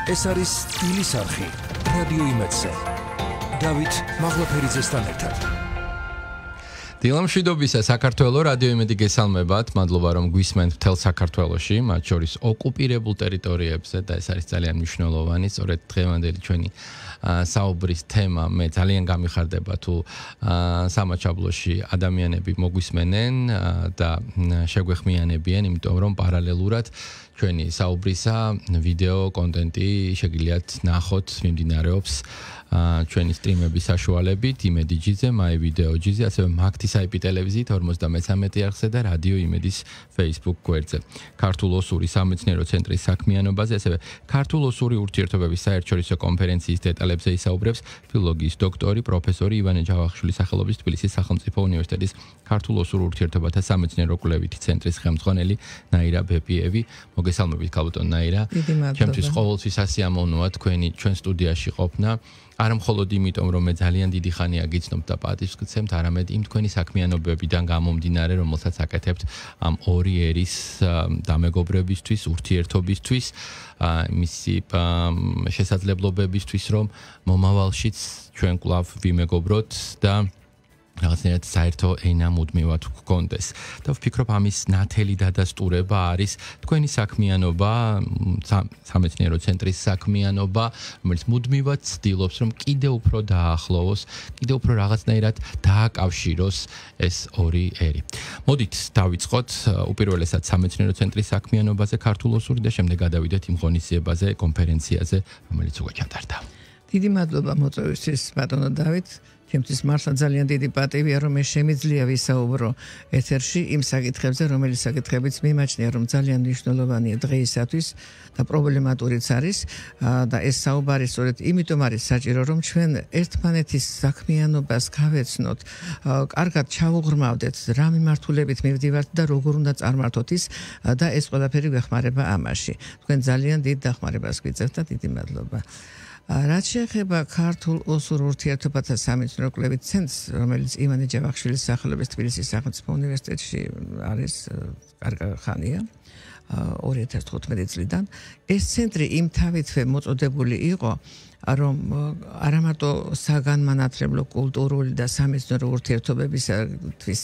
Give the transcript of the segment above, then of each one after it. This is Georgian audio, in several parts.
ეს არის სტილის არხი რადიო იმედზე. დავით მაღლაფერიძესთან ერთად. დილამშვიდობისა საქართველოს რადიო იმედი გესალმებათ. მადლობა რომ გვისმენთ მთელ საქართველოში, მათ შორის ოკუპირებულ ტერიტორიებზე და ეს არის ძალიან მნიშვნელოვანი. სწორედ დღევანდელი ჩვენი საუბრის თემა მე ძალიან გამიხარდება თუ სამაჩაბლოში ადამიანები მოგვისმენენ და შეგვეხმიანებიან, იმიტომ რომ პარალელურად ჩვენი საუბრისა ვიდეო კონტენტი შეგიძლიათ ნახოთ, მიმდინარეობს ჩვენი სტრიმების საშუალებით, იმედი ჯიზე, მაი ვიდეო ჯიზე, ასევე მაგთის IP ტელევიზიით 53 არხზე და რადიო იმედის Facebook გვერდზე. ქართულ-ოსური სამეცნიერო ცენტრის საქმიანობაზე, ასევე ქართულ-ოსური ურთიერთობების საერთაშორისო კონფერენციის დეტალებზე ისაუბრებს ფილოლოგიის დოქტორი, პროფესორი ივანე ჯავახიშვილის სახელობის თბილისის სახელმწიფო უნივერსიტეტის ქართულ-ოსურ ურთიერთობათა სამეცნიერო კვლევითი ცენტრის ხელმძღვანელი ნაირა ბეპიევი. მოგესალმებით, ქალბატონ ნაირა. ჩემთვის ყოველთვის ასიამოვნოა თქვენი ჩვენ სტუდიაში ყოფნა. არა მხოლოდ იმიტომ, რომ მე ძალიან დიდი ხანია გიცნობთ და პატივს გცემთ, არამედ იმ თქვენი საქმიანობებიდან გამომდინარე, რომელსაც აკეთებთ ამ ორი ერის დამეგობრებისთვის, ურთიერთობისთვის, მისი შესაძლებლობებისთვის, რომ მომავალშიც ჩვენ კვლავ ვიმეგობროთ და რაღაცნაირად საერთო ენა მუდმივად გქონდეს. და ვფიქრობ, ამის ნათელი დადასტურება არის თქვენი საქმიანობა, სამეცნიერო ცენტრის საქმიანობა, რომელიც მუდმივად ცდილობს, რომ კიდევ უფრო დაახლოვოს, კიდევ უფრო რაღაცნაირად დააკავშიროს ეს ორი ერი. მოდით დავიწყოთ უპირველესად სამეცნიერო ცენტრის საქმიანობაზე ქართულ-ოსური და შემდეგ გადავიდეთ იმ ღონისძიებაზე, კონფერენციაზე, რომელიც უკვე ჩატარდა. დიდი მადლობა მოწვევისთვის, ბატონო დავით. ჩემთვის მართლა ძალიან დიდი პატივია, რომ მე შემიძლია ვისაუბრო ეთერში იმ საკითხებზე, რომელიც საკითხებიც მიმაჩნია, რომ ძალიან მნიშვნელოვანია დღეისათვის და პრობლემატურიც არის და ეს საუბარი სწორედ იმიტომ არის საჭირო, რომ ჩვენ ერთმანეთის საქმიანობას გავეცნოთ, კარგად ჩავუღრმავდეთ, რა მიმართულებით მივდივართ და როგორ უნდა წარმართოთ ის და ეს ყველაფერი გვეხმარება ამაში. თქვენ ძალიან დიდ დახმარებას გვიწევთ და დიდი მადლობა. რაც შეეხება ქართულ-ოსურ ურთიერთობათა სამეცნიერო კვლევით ცენტრს, რომელიც ივანე ჯავახიშვილის სახელობის თბილისის სახელმწიფო უნივერსიტეტში არის კარგი ხანია, 2015 წლიდან, ეს ცენტრი იმთავითვე მოწოდებული იყო, რომ არა მარტო საგანმანათლებლო, კულტურული და სამეცნიერო ურთიერთობებისთვის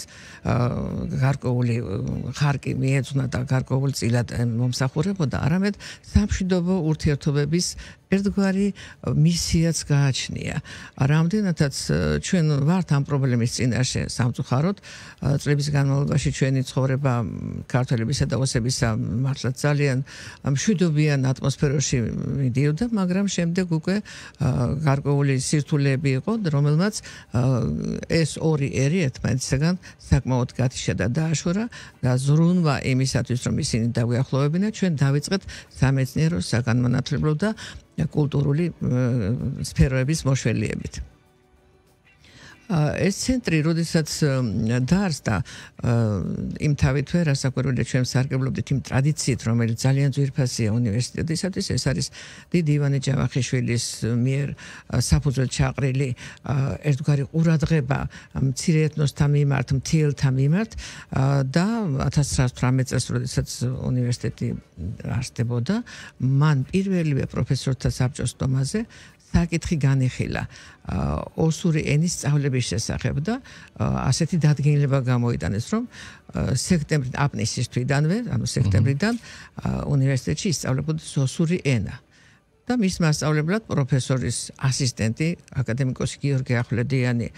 გარკვეული ხარკი მიეძღვნა და გარკვეულწილად მომსახურებოდა, არამედ სამშვიდობო ურთიერთობების ერთგვარი მისიაც გააჩნია. რამდენადაც ჩვენ ვართ ამ პრობლემის წინაშე სამწუხაროდ, წლების განმავლობაში ჩვენი ცხოვრება ქართველებისა და ოსებისა მართლა ძალიან მშვიდობიან ატმოსფეროში მიდიოდა, მაგრამ შემდეგ უკვე გარკვეული სირთულეები იყო, რომელმაც ეს ორი ერი ერთმანეთისგან საკმაოდ გათიშა და დააშორა და ზრუნვა იმისათვის, რომ ისინი დაგვიახლოვებინათ, ჩვენ დავიწყეთ სამეცნიერო, საგანმანათლებლო და კულტურული სფეროების მოშველიებით. ეს ცენტრი, როდესაც დაარსდა, იმთავითვე, რასაკვირველია, ჩვენ სარგებლობდით იმ ტრადიციით, რომელიც ძალიან ძვირფასია უნივერსიტეტისათვის, ეს არის დიდი ივანე ჯავახიშვილის მიერ საფუძვლად ჩაყრილი ერთგვარი ყურადღება მცირე ეთნოსთა მიმართ, მთიელთა მიმართ და 1918 წელს, როდესაც უნივერსიტეტი არსდებოდა, მან პირველივე პროფესორთა საბჭოს დომაზე საკითხი განიხილა ოსური ენის სწავლების შესახებ და ასეთი დადგენილება გამოიტანეს, რომ აპნისის თვიდანვე, ანუ სექტემბრიდან უნივერსიტეტში ისწავლებოდეს ოსური ენა. და მის მასწავლებლად პროფესორის ასისტენტი, აკადემიკოსი გიორგი ახვლედიანი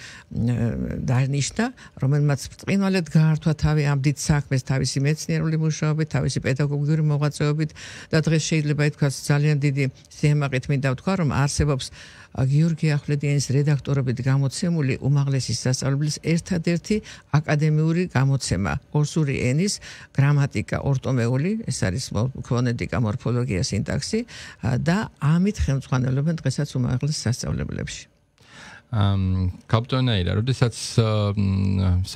დანიშნა, რომელმაც ბრწყინვალედ გაართვა თავი ამ დიდ საქმეს თავისი მეცნიერული მუშაობით, თავისი პედაგოგიური მოღვაწეობით და დღეს შეიძლება ითქვას ძალიან დიდი სიამაყით მინდა ვთქვა, რომ არსებობს გიორგი ახვლედიანის რედაქტორობით გამოცემული უმაღლესი სასწავლებლის ერთადერთი აკადემიური გამოცემა ოსური ენის გრამატიკა ორტომეული, ეს არის ფონეტიკა, მორფოლოგია, სინტაქსი და ამით ხელმძღვანელობენ დღესაც უმაღლეს სასწავლებლებში. ქალბატონ ნაირა, როდესაც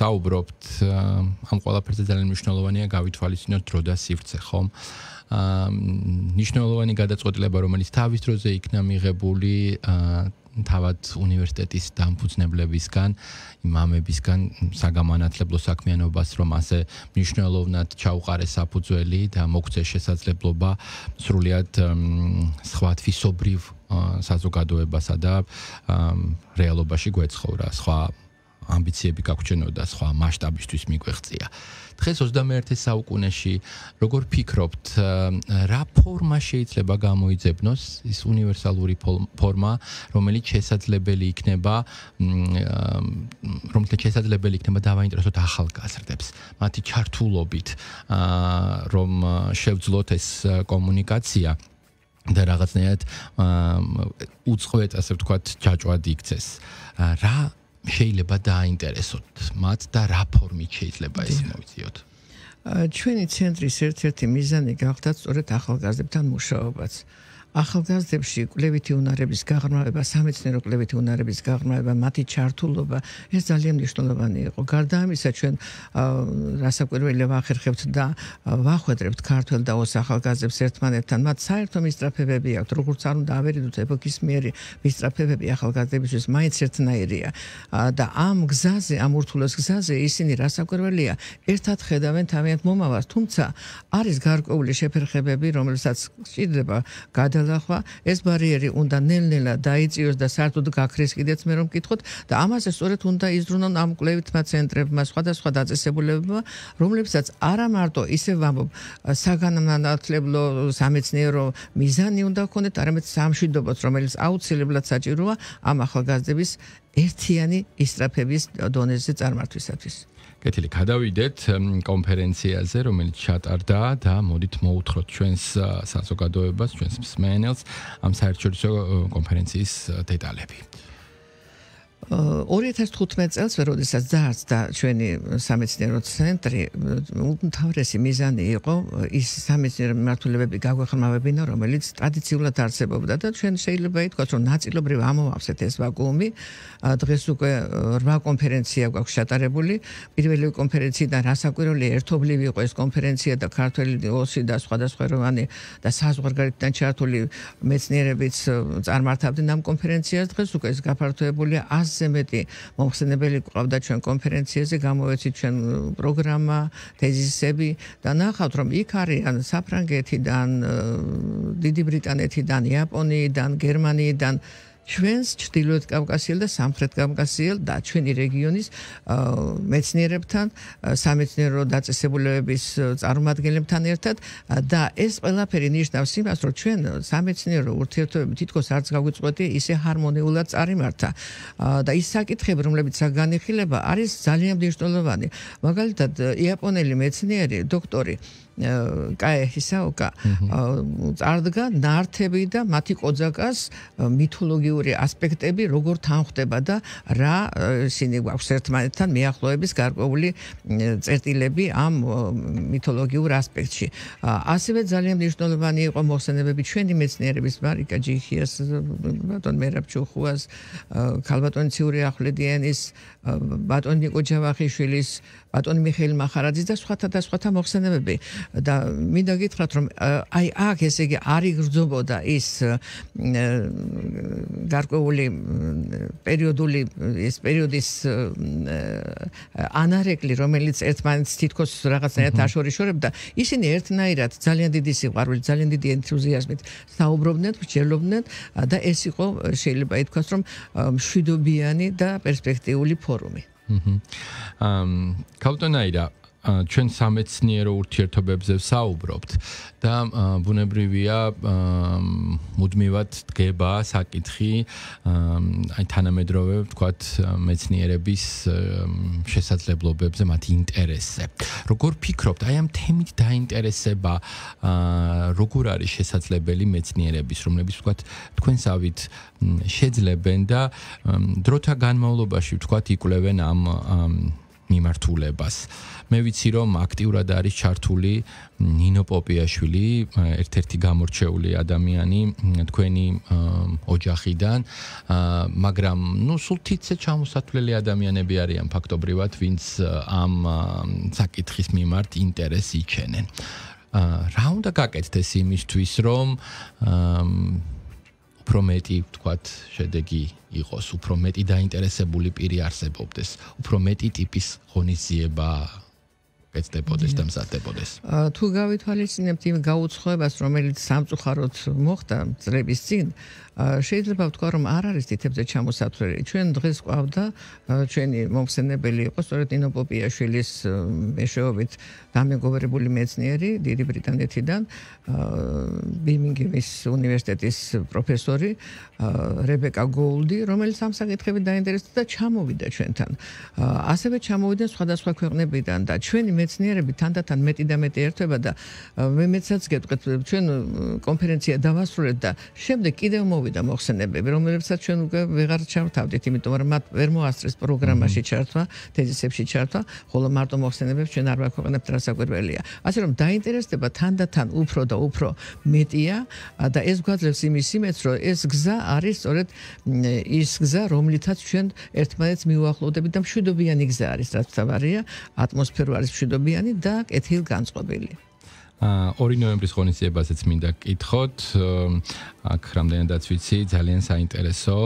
საუბრობთ ამ ყველაფერზე ძალიან მნიშვნელოვანია გავითვალისწინოთ დრო და სივრცე, ხომ? მნიშვნელოვანი გადაწყვეტილება, რომელიც თავის დროზე იქნა მიღებული თავად უნივერსიტეტის დამფუძნებლებისგან, იმამებისგან საგამანათლებლო საქმიანობას, რომ ასე მნიშვნელოვნად ჩაუყარეს საფუძველი და მოგცეს შესაძლებლობა სრულიად სხვა თვისობრივ საზოგადოებასა და რეალობაში გვეცხოვრა, სხვა ამბიციები გაგვჩნდა, სხვა მასშტაბისთვის მიგვეღწია. დღეს 21 საუკუნეში როგორ ფიქრობთ, რა ფორმა შეიძლება გამოიძებნოს ის უნივერსალური ფორმა, რომელიც შესაძლებელი იქნება დავაინტერესოთ ახალგაზრდებს, მათი ჩართულობით, რომ შევძლოთ ეს კომუნიკაცია და რაღაცნაირად უწყვეტ, ასე ვთქვათ, ჯაჭვად იქცეს. რა შეიძლება დააინტერესოთ მათ და რა ფორმით შეიძლება ეს მოვიძიოთ? ჩვენი ცენტრის ერთ-ერთი მიზანი გახდა სწორედ ახალგაზრდებთან მუშაობაც. ახალგაზრდებში კვლევითი უნარების გაღრმავება, სამეცნიერო კვლევითი უნარების გაღრმავება, მათი ჩართულობა, ეს ძალიან მნიშვნელოვანი იყო. გარდა ამისა, ჩვენ რასაკვირველია ვახერხებთ და ვახვედრებთ ქართველ და ოს ახალგაზრდებს ერთმანეთთან, მათ საერთო მისწრაფებები აქვთ, როგორც არ უნდა ავერიდოთ ეპოქისმიერი მისწრაფებები ახალგაზრდებისთვის მაინც ერთნაირია. და ამ გზაზე, ამ ურთულეს გზაზე ისინი რასაკვირველია, ერთად ხედავენ თავიანთ მომავალს, თუმცა არის გარკვეული შეფერხებები, რომელსაც სჭირდება გადალახვა, ეს ბარიერი უნდა ნელ-ნელა დაიწიოს და საერთოდ გაქრეს კიდეც მე რომ ვკითხოთ და ამაზე სწორედ უნდა იზრუნონ ამ კვლევითმა ცენტრებმა, სხვადასხვა დაწესებულებებმა, რომლებსაც არა მარტო ისე ვამბობ, საგანმანათლებლო, სამეცნიერო მიზანი უნდა ჰქონდეთ, არამედ სამშვიდობოც, რომელიც აუცილებლად საჭიროა ამ ახალგაზრდების ერთიანი ისწრაფების დონეზე წარმართვისათვის. კეთილი, გადავიდეთ კონფერენციაზე, რომელიც ჩატარდა და მოდით მოუთხროთ ჩვენს საზოგადოებას, ჩვენს მსმენელს ამ საერთაშორისო კონფერენციის დეტალები. 2015 წელს, როდესაც დაარსდა ჩვენი სამეცნიერო ცენტრი, უმთავრესი მიზანი იყო ის სამეცნიერო მიმართულებები გაგვეხმარებინა, რომელიც ტრადიციულად არსებობდა და ჩვენ შეიძლება ითქვას, რომ ნაწილობრივ ამოვავსეთ ეს ვაკუუმი. დღეს უკვე 8 კონფერენცია გვაქვს ჩატარებული. პირველი კონფერენციიდან რასაკვირველია, ერთობლივი იყო ეს კონფერენცია და ქართველი ოსი და სხვადასხვაგვარი და საზღვარგარეთიდან ჩართული მეცნიერებიც წარმართავდნენ ამ კონფერენციას. დღეს უკვე ეს გაფართოებულია 100-ზე მეტი მომხსენებელი ყავდა ჩვენ კონფერენციაზე, გამოვეცით ჩვენ პროგრამა, თეზისები და ნახავთ, რომ იქ არიან საფრანგეთიდან, დიდი ბრიტანეთიდან, იაპონიიდან, გერმანიიდან, ჩვენს ჩრდილოეთ კავკასიელ და სამხრეთ კავკასიელ და ჩვენი რეგიონის მეცნიერებთან, სამეცნიერო დაწესებულებების წარმომადგენლებთან ერთად და ეს ყველაფერი ნიშნავს იმას, რომ ჩვენ სამეცნიერო ურთიერთობები თითქოს არც გაგვიწყვეტი, ისე ჰარმონიულად წარიმართა და ის საკითხები, რომლებიც განიხილება, არის ძალიან მნიშვნელოვანი. მაგალითად, იაპონელი მეცნიერი, დოქტორი კაე ჰისაოკა წარდგა ნართები და მათი კოძაკას მითოლოგიური ასპექტები როგორ თანხდება და რა ისინი გვაქვს ერთმანეთთან მიახლოების გარკვეული წერტილები ამ მითოლოგიურ ასპექტში. ასევე ძალიან მნიშვნელოვანი იყო მოხსენებები ჩვენი მეცნიერების, მარიკა ჯიხიას, ბატონ მერაბ ჩუხუას, ქალბატონი ციური ახვლედიანის, ბატონ ნიკო ჯავახიშვილის, ბატონ მიხეილ მახარაძის და სხვათა მოხსენებები. და მინდა გითხრათ, რომ აი აქ ესე იგი არ იგრძნობოდა ის გარკვეული პერიოდული ეს პერიოდის ანარეკლი, რომელიც ერთმანეთს თითქოს რაღაცნაირად აშორიშორებდა, ისინი ერთნაირად ძალიან დიდი სიყვარულით, ძალიან დიდი ენთუზიაზმით საუბრობდნენ, მსჯელობდნენ და ეს იყო შეიძლება ითქვას, რომ მშვიდობიანი და პერსპექტიული ფორუმი. ქავტონაირა ჩვენ სამეცნიერო ურთიერთობებზე ვსაუბრობთ და ბუნებრივია მუდმივად დგება საკითხი აი თანამედროვე ვთქვათ მეცნიერების შესაძლებლობებზე, მათი ინტერესზე. როგორ ფიქრობთ, აი ამ თემით დაინტერესება როგორ არის შესაძლებელი მეცნიერების, რომლებიც ვთქვათ თქვენსავით შეძლებენ და დროთა განმავლობაში ვთქვათ იკვლევენ ამ მიმართულებას. მე ვიცი, რომ აქტიურად არის ჩართული ნინო პოპიაშვილი, ერთ-ერთი გამორჩეული ადამიანი თქვენი ოჯახიდან, მაგრამ სულ თითზე ჩამოსათვლელი ადამიანები არიან ფაქტობრივად, ვინც ამ საკითხის მიმართ ინტერესს იჩენენ. რა უნდა გაკეთდეს იმისთვის, რომ უფრო მეტი, ვთქვათ, შედეგი იყოს, უფრო მეტი დაინტერესებული პირი არსებობდეს, უფრო მეტი ტიპის ღონისძიება ეცდებოდეს და მზადდებოდეს. თუ გავითვალისწინებთ იმ გაუცხოებას, რომელიც სამწუხაროდ მოხდა წლების წინ, შეიძლება ვთქვა, რომ არ არის თითებზე ჩამოსათვლელი. ჩვენ დღეს ყავდა ჩვენი მომხსენებელი იყო სწორედ ნინო პოპიაშვილის მეშვეობით დამეგობრებული მეცნიერი დიდი ბრიტანეთიდან, ბირმინგემის უნივერსიტეტის პროფესორი რებეკა გოულდი, რომელიც ამ საკითხებით დაინტერესდა და ჩამოვიდა ჩვენთან. ასევე ჩამოვიდნენ სხვადასხვა ქვეყნებიდან და ჩვენი მეცნიერები თანდათან მეტი და მეტი ერთვება და მეცაც გეტყვით, ჩვენ კონფერენცია დავასრულეთ და შემდეგ კიდევ მოვიდა მოხსენებები, რომელებსაც ჩვენ უკვე ვეღარ ჩავთავდით, იმიტომ რომ მათ ვერ მოასწრეს პროგრამაში ჩართვა, თეზისებში ჩართვა, ხოლო მარტო მოხსენებებს ჩვენ არ ვაქვეყნებთ, რასაკვირველია. ასე რომ დაინტერესდება თანდათან უფრო და უფრო მეტია და ეს გვაძლევს იმის იმედს, რომ ეს გზა არის სწორედ ის გზა, რომლითაც ჩვენ ერთმანეთს მივუახლოვდებით და მშვიდობიანი გზა არის, რაც თავარია, ატმოსფერო არის მშვიდობიანი და კეთილგანწყობილი. 2 ნოემბრის ღონისძიებაზეც მინდა გკითხოთ, აქ რამდენადაც ვიცი, ძალიან საინტერესო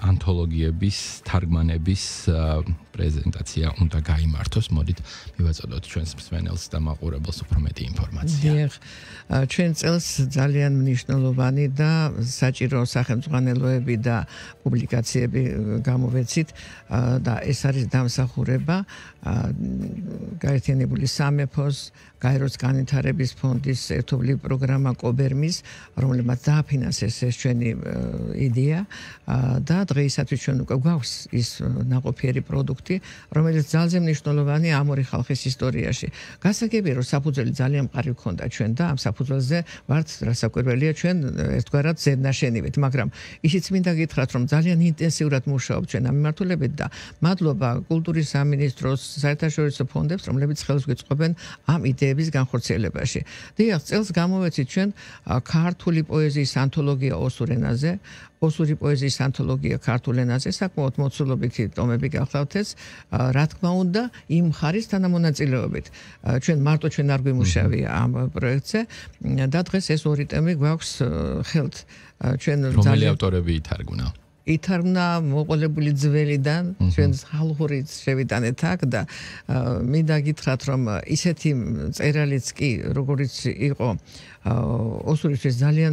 ანთოლოგიების, თარგმანების პრეზენტაცია უნდა გაიმართოს. მოდით მივაწოდოთ ჩვენს მსმენელს და მაყურებელს უფრო მეტი ინფორმაცია. ჩვენ წელს ძალიან მნიშვნელოვანი და საჭირო სახელმძღვანელოები და პუბლიკაციები გამოვეცით და ეს არის დამსახურება გაერთიანებული სამეფოს გაეროს განვითარების ფონდის ერთობლივი პროგრამა კობერმის, რომელმაც დააფინანსეს ეს ჩვენი იდეა და დღეისათვის ჩვენ უკვე გვაქვს ის ნაყოფიერი პროდუქტი, რომელიც ძალიან მნიშვნელოვანია ამ ორი ხალხის ისტორიაში. გასაგებია, რომ საფუძველი ძალიან მყარი გქონდა ჩვენ და ამ საფუძველზე ვართ რასაკვირველია ჩვენ ერთგვარად ზედნაშენივით, მაგრამ ისიც მინდა გითხრათ, რომ ძალიან ინტენსიურად მუშაობთ ჩვენ ამ მიმართულებით და მადლობა კულტურის სამინისტროს, საერთაშორისო ფონდებს, რომლებიც ხელს გვიწყობენ ამ იდეების განხორციელებაში. დიახ, წელს გამოვეცით ჩვენ ქართული პოეზიის ანთოლოგია ოსურ ენაზე, ოსური პოეზიის ანთოლოგია ქართულ ენაზე, საკმაოდ მოცულობითი ტომები გახლავთ ეს, რა თქმა უნდა, იმ მხარის თანამონაწილეობით. ჩვენ მარტო ჩვენ არ გვიმუშავია ამ პროექტზე და დღეს ეს ორი ტემი გვაქვს ხელთ. ჩვენ რომელი ავტორები ითარგმნა? ითარგმნა მოყოლებული ძველიდან, ჩვენ ხალხური შევიტანეთ აქ და მინდა გითხრათ, რომ ისეთი წერალიც კი, როგორც იყო ოსურისთვის ძალიან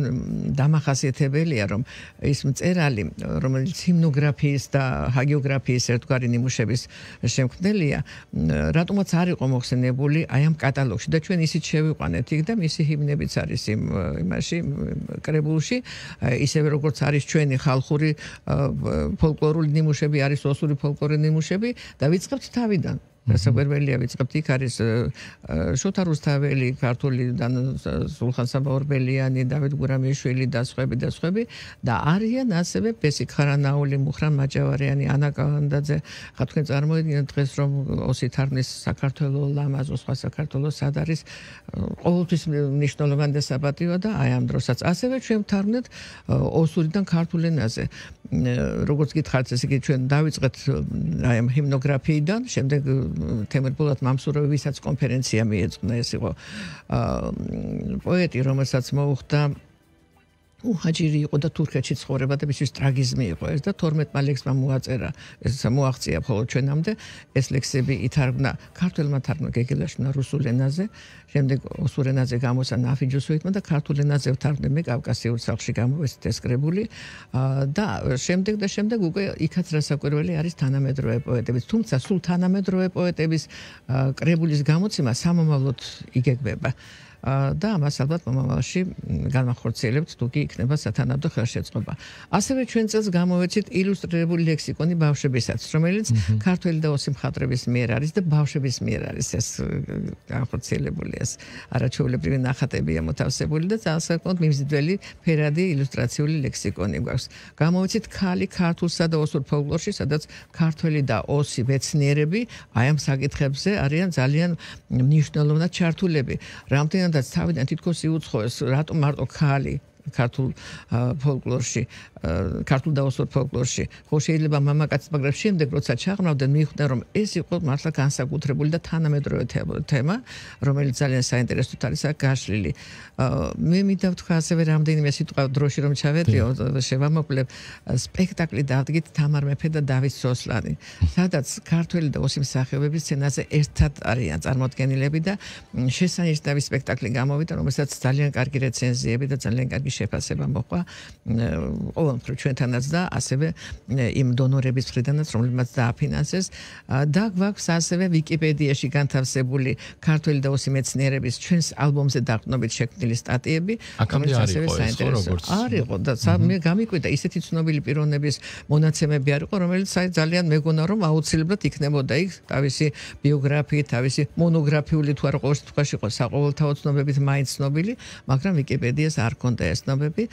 დამახასიათებელია, რომ ის მწერალი, რომელიც ჰიმნოგრაფიის და ჰაგიოგრაფიის ერთგვარი ნიმუშების შემქმნელია, რატომაც არ იყო მოხსენებული აი ამ კატალოგში და ჩვენ ისიც შევიყვანეთ იქ და მისი ჰიმნებიც არის იმაში კრებულში, ისევე როგორც არის ჩვენი ხალხური ფოლკლორული ნიმუშები, არის ოსური ფოლკლორული ნიმუშები და ვიწყებთ თავიდან. რასაკვირველია, ვიწყებთ იქ არის შოთა რუსთაველი, ქართულიდან სულხან საბაურბელიანი, დავით გურამიშვილი და სხვები და არიან ასევე ბესიკ ხარანაული, მუხრან მაჭავარიანი, ანა კალანდაძე. ხა თქვენ წარმოიდგინეთ დღეს რომ ოსი თარგმნის საქართველოს ლამაზო, სხვა საქართველოს სად არის, ყოველთვის მნიშვნელოვანი და საპატიო და აი ამ დროსაც ასევე ჩვენ ვთარგმნეთ ოსურიდან ქართულ ენაზე. როგორც გითხართ, ესე იგი ჩვენ დავიწყეთ აი ამ ჰიმნოგრაფიიდან, შემდეგ თემურ ბოლოთ მამსურავი, ვისაც კონფერენცია მიეძღვნა, ეს იყო პოეტი, რომელსაც მოუხდა უჰაჯირი იყო და თურქეთში ცხოვრება და მისთვის ტრაგიზმი იყო ეს და 12 ლექსმა მოაწერა, ეს მოაღწია მხოლოდ ჩვენამდე, ეს ლექსები ითარგმნა ქართულმა თარგმნა გეგელაშვილმა რუსულ ენაზე, შემდეგ ოსურ ენაზე გამოსცა ნაფიჯუსოიტმა და ქართულ ენაზე ვთარგმნე კავკასიურ სახლში გამოვეცით ეს კრებული და შემდეგ უკვე იქაც რასაკვირველი არის თანამედროვე პოეტების, თუმცა სულ თანამედროვე პოეტების კრებულის გამოცემა სამომავლოდ იგეგმება. და ამას ალბათ მომავალში განახორციელებთ, თუ კი იქნება სათანადო ხელშეწყობა. ასევე ჩვენ წელს გამოვეცით ილუსტრირებული ლექსიკონი ბავშვებისაც, რომელიც ქართველი და ოსი მხატვრების მიერ არის და ბავშვების მიერ არის ეს განახორციელებული ეს არაჩვეულებრივი ნახატებია მოთავსებული და საკმაოდ მიმზიდველი ფერადი ილუსტრაციული ლექსიკონი გვაქვს. გამოვეცით ქალი ქართულსა და ოსურ ფოლკლორში, სადაც ქართველი და ოსი მეცნიერები აი ამ საკითხებზე არიან ძალიან მნიშვნელოვნად ჩართულები. რამდენადაც თავიდან თითქოს იუცხოეს, რატომ მარტო ქალი ქართულ ფოლკლორში ქართულ და ოსურ ფოლკლორში. ხო შეიძლება მამაკაცი, მაგრამ შემდეგ როცა ჩაღრმავდნენ, მიხვდნენ რომ ეს იყო მართლა განსაკუთრებული და თანამედროვე თემა, რომელიც ძალიან საინტერესოდ არის აქ გაშლილი. მე მინდა ვთქვა ასევე რამდენიმე სიტყვა დროში რომ ჩავედიო, შევამოკლებ სპექტაკლი დადგით თამარ მეფე და დავით სოსლანი. სადაც ქართველი და ოსი მსახიობები სცენაზე ერთად არიან წარმოდგენილები და შესანიშნავი სპექტაკლი გამოვიდა, რომელსაც ძალიან კარგი რეცენზიები და ძალიან კარგი შეფასება მოყვა ყოველ მხრივ ჩვენთანაც და ასევე იმ დონორების მხრიდანაც, რომლებმაც დააფინანსეს და გვაქვს ასევე ვიკიპედიაში განთავსებული ქართველი და ოსი მეცნიერების ჩვენს ალბომზე დაყრდნობით შექმნილი სტატიები, რომელიც ასევე საინტერესოა. არისო და მე გამიკვირდა ისეთი ცნობილი პიროვნების მონაცემები არისო, რომელიც ძალიან მეგონა რომ აუცილებლად იქნებოდა იქ თავისი ბიოგრაფიით, თავისი მონოგრაფიული თუ არა ყოველ შემთხვევაში იყო საყოველთაო ცნობებით მაინც ცნობილი, მაგრამ ვიკიპედიას არ ჰქონდა ეს ცნობები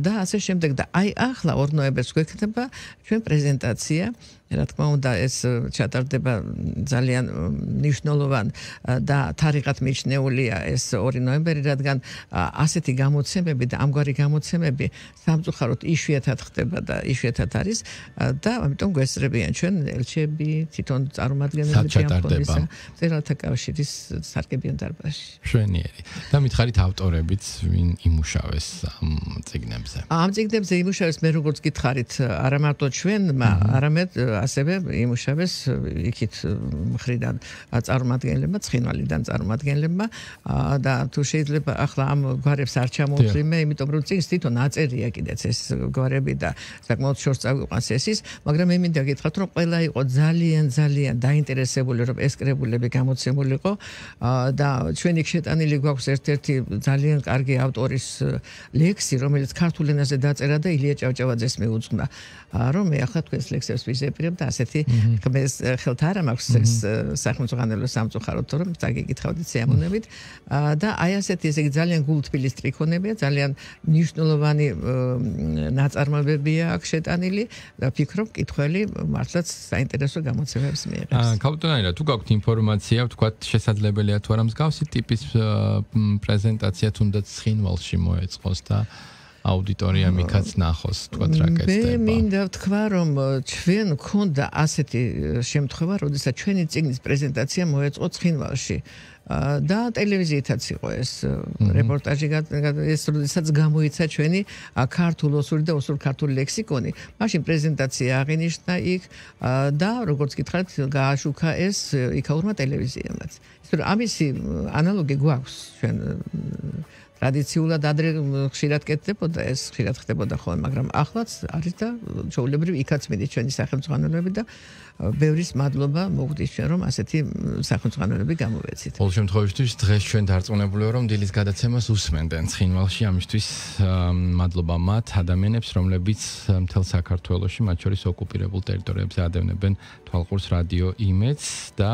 და ასე შემდეგ და აი ახლა 2 ნოემბერს გვექნება ჩვენ პრეზენტაცია რა თქმა უნდა ეს ჩატარდება ძალიან მნიშვნელოვან და თარიღად მიჩნეულია ეს 2 ნოემბერი, რადგან ასეთი გამოცემები და ამგვარი გამოცემები სამწუხაროდ იშვიათად ხდება და იშვიათად არის და ამიტომ გვესწრებიან ჩვენ ელჩები, თვითონ წარმომადგენლები ამფონისა, მწერალთა კავშირის სარგებიან დარბაზში. მშვენიერი. და მითხარით ავტორებიც ვინ იმუშავეს ამ წიგნებზე? ამ წიგნებზე იმუშავეს მე როგორც გითხარით, არა მარტო ჩვენმა, არამედ ასევე იმუშავეს იქით მხრიდან წარმომადგენლებმა, ცხინვალიდან წარმომადგენლებმა და თუ შეიძლება ახლა ამ გვარებს არ ჩამოვთვლი მე, იმიტომ რომ წიგნს თვითონ აწერია კიდეც ეს გვარები და საკმაოდ შორს წავიყვანს ესის, მაგრამ მე მინდა გითხრათ რომ ყველა იყო ძალიან დაინტერესებული რომ ეს კრებულები გამოცემულიყო და ჩვენ იქ შეტანილი გვაქვს ერთ-ერთი ძალიან კარგი ავტორის ლექსი, რომელიც ქართულ ენაზე დაწერა და ილია ჭავჭავაძეს მიუძღვნა. რომ მე ახლა თქვენს ლექსებს ვიზეპირებ და ასეთი ხმეს ხელთ არ მაქვს ეს სახელმწიფო სამწუხაროდ რომ დაგეკითხავდით სიამოვნებით და აი ასეთი ესე იგი ძალიან გულთბილი სტრიქონებია, ძალიან მნიშვნელოვანი ნაწარმოებებია აქ შეტანილი და ფიქრობ კითხველი მართლაც საინტერესო გამოცემებს მიიღებს. კაპიტანაირა, თუ გაქვთ ინფორმაცია, ვთქვათ შესაძლებელია თუ არა მსგავსი ტიპის პრეზენტაცია თუნდაც ცხინვალში მოეწყოს და აუდიტორიამ იქაც ნახოს, თქვათ რა კეთდება. მე მინდა ვთქვა, რომ ჩვენ გქონდა ასეთი შემთხვევა, როდესაც ჩვენი წიგნის პრეზენტაცია მოეწყო ცხინვალში. და ტელევიზიითაც იყო ეს რეპორტაჟი, ეს როდესაც გამოიცა ჩვენი ქართულ-ოსური და ოსურ-ქართული ლექსიკონი. მაშინ პრეზენტაცია აღინიშნა იქ და როგორც გითხარით, გააშუქა ეს იქაურმა ტელევიზიამაც. ისე რომ ამისი ანალოგი გვაქვს ჩვენ ტრადიციულად ადრე ხშირად კეთდებოდა ეს, ხშირად ხდებოდა ხოლმე, მაგრამ ახლაც არის და ჩვეულებრივ იქაც მიდის ჩვენი სახელმწიფოები და ბევრის მადლობა მოგვდის ჩვენ რომ ასეთი სახელმწიფოები გამოვეცით. ყოველ შემთხვევაში დღეს ჩვენ დარწმუნებული ვარ რომ დილის გადაცემას უსმენდნენ ცხინვალში, ამისთვის მადლობა მათ ადამიანებს, რომლებიც მთელ საქართველოში, მათ შორის ოკუპირებულ ტერიტორიებზე ადევნებენ თვალყურს რადიო იმედს და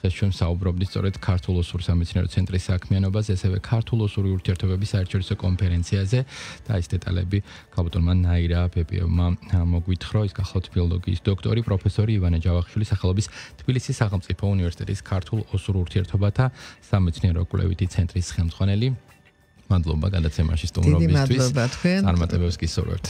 დღეს ჩვენ საუბრობდით სწორედ ქართულ-ოსურ სამეცნიერო ცენტრის საქმიანობაზე, ასევე ქართულ-ოსური ურთიერთობების საერთაშორისო კონფერენციაზე და ის დეტალები კაპიტანმა ნაირა ბებიევმა მოგვითხრა, ის გახლავთ ფილოლოგიის დოქტორი, პროფესორი ივანე ჯავახიშვილი სახელობის თბილისის სახელმწიფო უნივერსიტეტის ქართულ-ოსურ ურთიერთობათა სამეცნიერო კვლევითი ცენტრის ხელმძღვანელი. მადლობა გადაცემაში სტუმრობისთვის. დიდი მადლობა თქვენ. წარმატებებს გისურვებთ.